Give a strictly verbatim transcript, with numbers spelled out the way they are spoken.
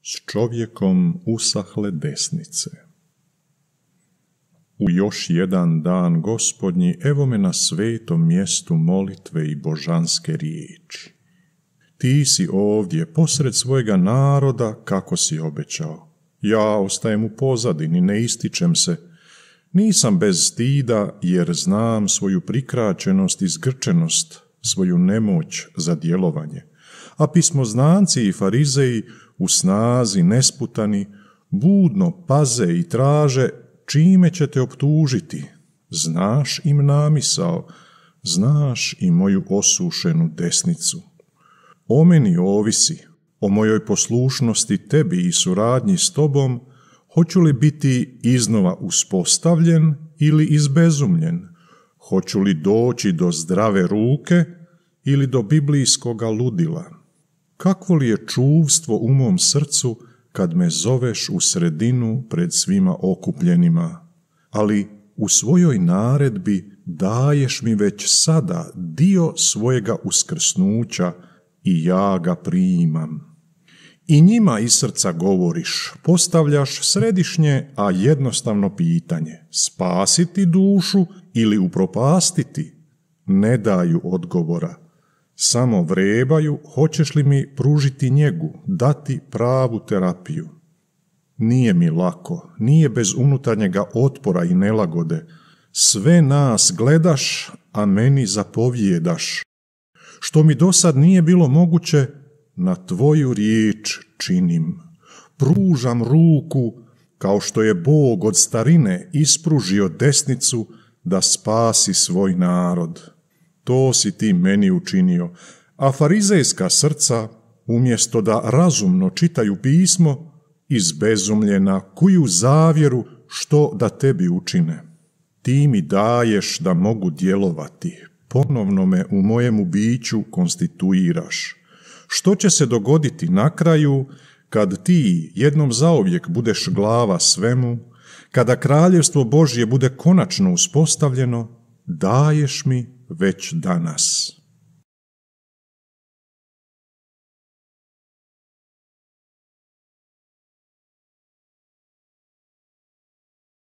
S čovjekom usahle desnice. U još jedan dan Gospodnji, evo me na svetom mjestu molitve i božanske riječi. Ti si ovdje, posred svojega naroda, kako si obećao. Ja ostajem u pozadini, ne ističem se. Nisam bez stida, jer znam svoju prikraćenost i zgrčenost, svoju nemoć za djelovanje. A pismoznanci i farizeji u snazi nesputani budno paze i traže čime će te optužiti. Znaš im namisao, znaš i moju osušenu desnicu. O meni ovisi, o mojoj poslušnosti tebi i suradnji s tobom, hoću li biti iznova uspostavljen ili izbezumljen, hoću li doći do zdrave ruke ili do biblijskoga ludila. Kakvo li je čuvstvo u mom srcu kad me zoveš u sredinu pred svima okupljenima, ali u svojoj naredbi daješ mi već sada dio svojega uskrsnuća i ja ga primam. I njima iz srca govoriš, postavljaš središnje, a jednostavno pitanje, spasiti dušu ili upropastiti? Ne daju odgovora. Samo vrebaju, hoćeš li mi pružiti njegu, dati pravu terapiju. Nije mi lako, nije bez unutarnjega otpora i nelagode. Sve nas gledaš, a meni zapovjedaš. Što mi dosad nije bilo moguće, na tvoju riječ činim. Pružam ruku, kao što je Bog od starine ispružio desnicu da spasi svoj narod. To si ti meni učinio, a farizejska srca, umjesto da razumno čitaju pismo, izbezumljena kuju zavjeru što da tebi učine. Ti mi daješ da mogu djelovati, ponovno me u mojemu biću konstituiraš. Što će se dogoditi na kraju, kad ti jednom zauvijek budeš glava svemu, kada kraljevstvo Božje bude konačno uspostavljeno, daješ mi već danas.